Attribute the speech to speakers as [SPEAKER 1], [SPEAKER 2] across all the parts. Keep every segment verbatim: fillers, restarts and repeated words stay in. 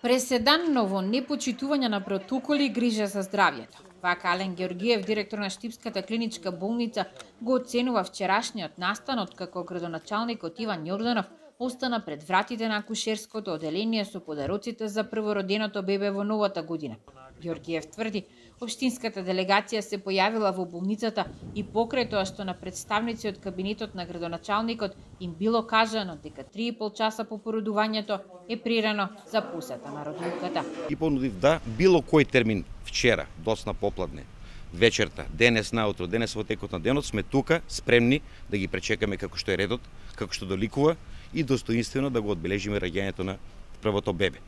[SPEAKER 1] Преседан, но во непочитување на протоколи и грижа за здравјето. Вака Ален Георгиев, директор на Штипската клиничка болница, го оценува вчерашниот настан откако градоначалникот Иван Јорданов остана пред вратите на акушерското оделение со подароците за првороденото бебе во новата година. Георгиев тврди, општинската делегација се појавила во болницата и покрај тоа што на представници од кабинетот на градоначалникот им било кажано дека три и пол часа по породувањето е прирано за посета на родилката.
[SPEAKER 2] И понудив да било кој термин вчера, доцна попладне, вечерта, денес наутро, денес во текот на денот сме тука спремни да ги пречекаме како што е редот, како што доликува и достоинствено да го одбележиме раѓањето на првото бебе.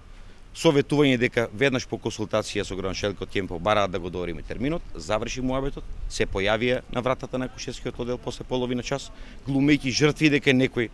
[SPEAKER 2] Советување дека веднаш по консултација со градоначалникот ќе им побараат да го договориме терминот, заврши муабетот, се појавија на вратата на акушерскиот оддел после половина час, глумејќи жртви дека некој,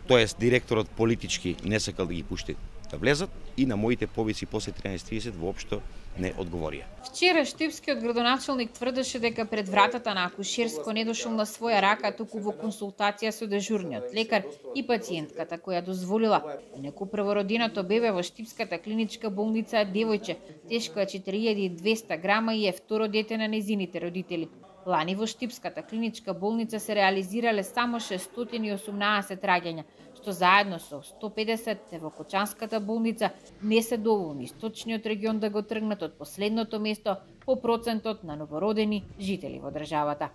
[SPEAKER 2] тоест директорот политички не сакал да ги пушти да влезат и на моите повици после тринаесет и тридесет воопшто не одговорија.
[SPEAKER 1] Вчера штипскиот градоначалник тврдеше дека пред вратата на акушерско не дошол на своја рака, туку во консултација со дежурниот лекар и пациентката која дозволила. Неку првороденото бебе во Штипската клиничка болница е девојче, тешко е четири илјади и двесте грама и е второ дете на незините родители. Лани во Штипската клиничка болница се реализирале само шестстотини и осумнаесет раѓања, што заедно со сто педесет во Кочанската болница не се доволни источниот регион да го тргнат од последното место по процентот на новородени жители во државата.